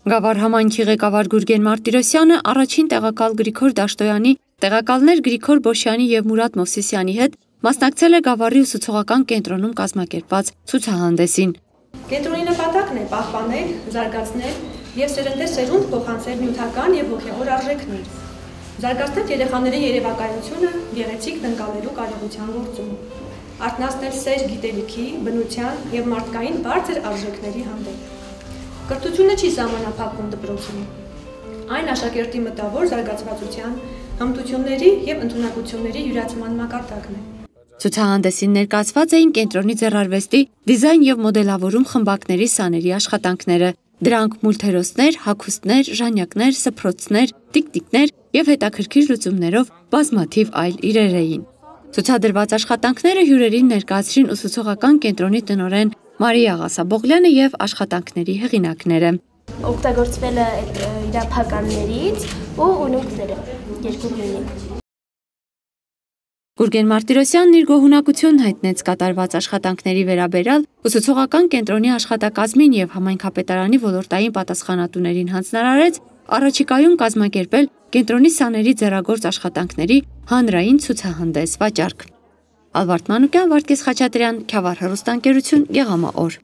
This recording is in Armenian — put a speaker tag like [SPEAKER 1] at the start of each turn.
[SPEAKER 1] Գավառ համայնքի ղեկավար Գուրգեն Մարտիրոսյանը առաջին տեղակալ Գրիգոր Դաշտոյանի, տեղակալներ Գրիգոր Բոշյանի եւ Մուրադ Մովսիսյանի հետ մասնակցել է Գավառի ուսուցողական կենտրոնում կազմակերպված ցուցահանդեսին։
[SPEAKER 2] Կենտրոնի նպատակն է պահպանել, զարգացնել եւ սերնդե սերունդ փոխանցել նյութական եւ հոգեվոր արժեքներ, զարգացնել երեխաների երևակայությունը գեղեցիկ տնկալելու կարողության գործում, արթնացնել սեր գիտելիքի, բնության եւ մարդկային բարձր արժեքների հանդեպ։ Կրթությունը չի սահմանափակվում դպրոցում։ Այն աշակերտի մտավոր զարգացվածության, հմտությունների եւ ընդունակությունների յուրացման մակարդակն է։
[SPEAKER 1] Ցուցահանդեսին ներկայացված էին կենտրոնի ձեռարվեստի, դիզայն եւ մոդելավորում խմբակների սաների աշխատանքները։ Դրանք մուլտհերոսներ, հագուստներ, ժանյակներ, սփռոցներ, տիկտիկներ եւ հետաքրքիր լուծումներով բազմաթիվ այլ իրեր էին։ Ցուցադրված աշխատանքները հյուրերին ներկայացրին ուսուցողական կենտրոնի տնօրեն Մարիա Ղասաբողլյանը եւ աշխատանքների հեղինակները։
[SPEAKER 3] Օգտագործվել է իրափականներից ու ունունքները երկու գույնի։
[SPEAKER 1] Գուրգեն Մարտիրոսյանն իր գոհունակությունն հայտնեց կատարված աշխատանքների վերաբերյալ ուսուցողական կենտրոնի աշխատակազմին եւ համայնքապետարանի ոլորտային պատասխանատուներին հանձնարարեց առաջիկայում կազմակերպել կենտրոնի սաների ձեռագործ աշխատանքների հանրային ցուցահանդես վաճառք։ Ալվարդ Մանուկյան, Վարդգես Խաչատրյան, Քյավառ հեռուստաընկերություն, Գեղամա օր։